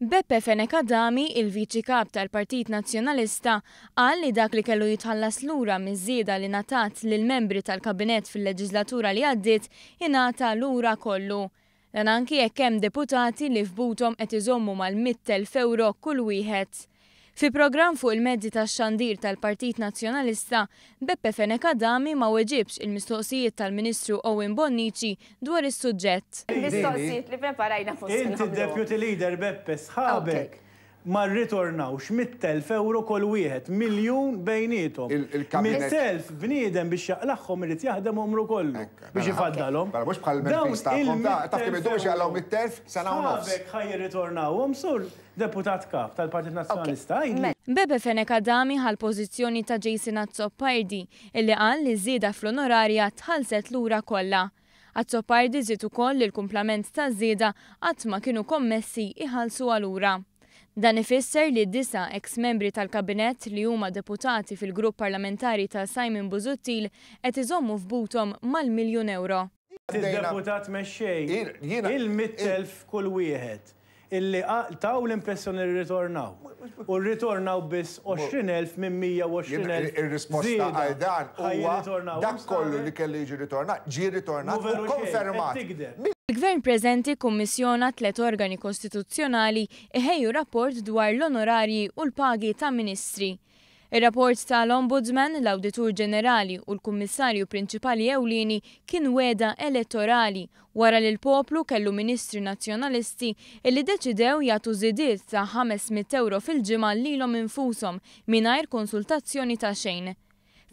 Beppe Fenech Adami, il-Viċi Kap tal-Partit Nazzjonalista, qal li dak li kellu jitħallas lura miż-żieda li ngħatat lill-membri tal-Kabinett fil-leġiżlatura li għaddiet ingħata lura kollu. Dan anki jekk hemm deputati li f'buthom qed iżommu mal-100,000 ewro kull wieħed. Fi programm fuq il-mezzi tax-xandir tal-Partit Nazzjonalista, Beppe Fenech Adami ma weġibx il-mistoqsijiet tal-Ministru Owen Bonnici dwar is-suġġett. Il-mistoqsijiet li preparajna mhux se Inti nagħmluhom. d-Deputy Leader Beppe, sħabek ma rritornawx 100,000 ewro kull wieħed, miljun bejniethom. 100,000 bniedem biex jaqlagħhom irid jaħdem għomru kollu biex ifaddalhom. Mela mhux bħal Dawn l-MPs tagħkom, taf kemm idumu biex il-100,000 jaqlgħu ewro 100,000? Sena u nofs. sħabek ħa jirritornawhom, Sur Deputat Kap tal-Partit Nazzjonalista, għidli. Beppe Fenech Adami ħa l-pożizzjoni ta' Jason Azzopardi illi qal li ż-żieda fl-onorarja tħallset lura kollha. Azzopardi żied ukoll li l-kumplament taż-żieda qatt ma kienu kommessi jħallsuha lura. Dan ifisser li disa' eks membri tal-Kabinett li huma deputati fil-grupp parlamentari ta' Simon Busuttil qed iżommu f'buthom mal-miljun ewro. Id-Deputat Mexxej, il-100,000 kull wieħed illi taw l-impressjoni li rritornaw u rritornaw biss 20,000 minn 120,000 Ir-risposta żieda għal dan ħa huwa jirritornawhom dak kollu li sħabek? kellu jiġi ritornat ġie ritornat Mhu u veru xejn, qed konfermat. tigdeb. Il-Gvern preżenti kkummissjona tliet organi kostituzzjonali iħejju rapport dwar l-onorarji u l-pagi ta' ministri. Ir-rapport ta' l-Ombudsman, l-Awditur Ġenerali u l-Kummissarju Prinċipali Ewlieni kien wegħda elettorali wara li l-poplu kellu ministri Nazzjonalisti illi ddeċidew jagħtu żidiet ta' 500 ewro fil-ġimgħa lilhom infushom mingħajr konsultazzjoni ta' xejn.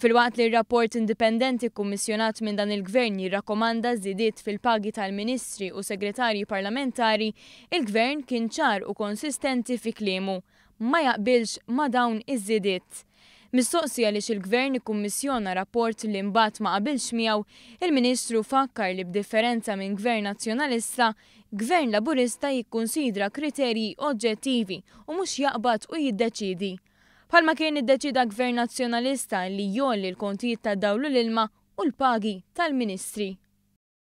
Filwaqt li r-rapport indipendenti kkummissjonat minn dan il-Gvern jirrakkomanda żidiet fil-pagi tal-Ministri u Segretarji Parlamentari, il-Gvern kien ċar u konsistenti fi kliemu. Ma jaqbilx ma' dawn iż-żidiet. Mistoqsi għaliex il-Gvern ikkummissjona rapport li mbagħad ma qabilx miegħu, il-Ministru fakkar li b'differenza minn Gvern Nazzjonalista, Gvern Laburista jikkunsidra kriterji oġġettivi u mhux jaqbad u jiddeċiedi. Bħalma kien iddeċieda Gvern Nazzjonalista li jgħolli l-kontijiet tad-dawl u l-ilma u l-pagi tal-Ministri.